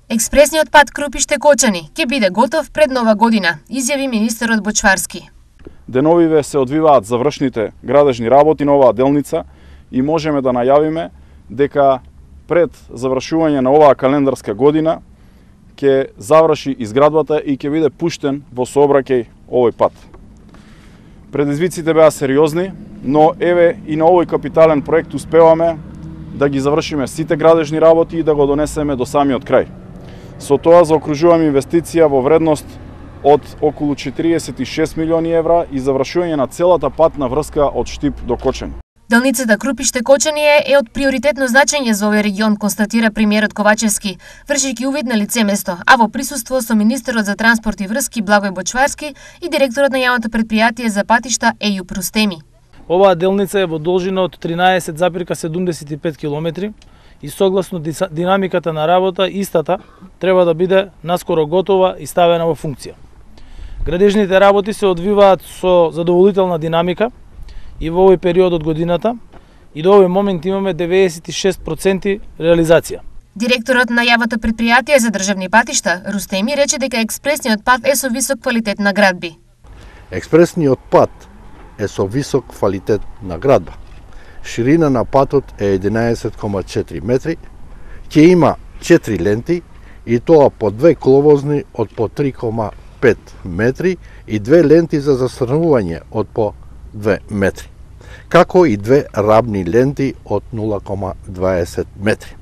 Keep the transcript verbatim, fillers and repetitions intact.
Експресниот пат Крупиште-Кочани ќе биде готов пред нова година, изјави министерот Бочварски. Деновиве се одвиваат завршните градежни работи на оваа делница и можеме да најавиме дека пред завршување на оваа календарска година ќе заврши изградбата и ќе биде пуштен во сообраќај овој пат. Предизвиците беа сериозни, но еве и на овој капитален проект успеваме да ги завршиме сите градежни работи и да го донесеме до самиот крај. Со тоа заокружуваме инвестиција во вредност од околу четириесет и шест милиони евра и завршување на целата патна врска од Штип до Кочани. Делницата Крупиште-Кочани е од приоритетно значење за овој регион, констатира премиерот Ковачевски, вршејќи увид на лице место, а во присуство со министерот за транспорт и врски Благој Бочварски и директорот на јавното претпријатие за патишта Ејуп Рустеми. Оваа делница е во должина од тринаесет запирка седумдесет и пет километри и согласно динамиката на работа, истата треба да биде наскоро готова и ставена во функција. Градежните работи се одвиваат со задоволителна динамика и во овој период од годината и до овој момент имаме деветдесет и шест проценти реализација. Директорот на јавното претпријатие за државни патишта Рустеми рече дека експресниот пат е со висок квалитет на градби. Експресниот пат е со висок квалитет на градба. Ширина на патот е единаесет кома четири метри, ќе има четири ленти и тоа по две коловозни од по три кома пет метри и две ленти за застрнување од по две метри, како и две рабни ленти од нула кома дваесет метри.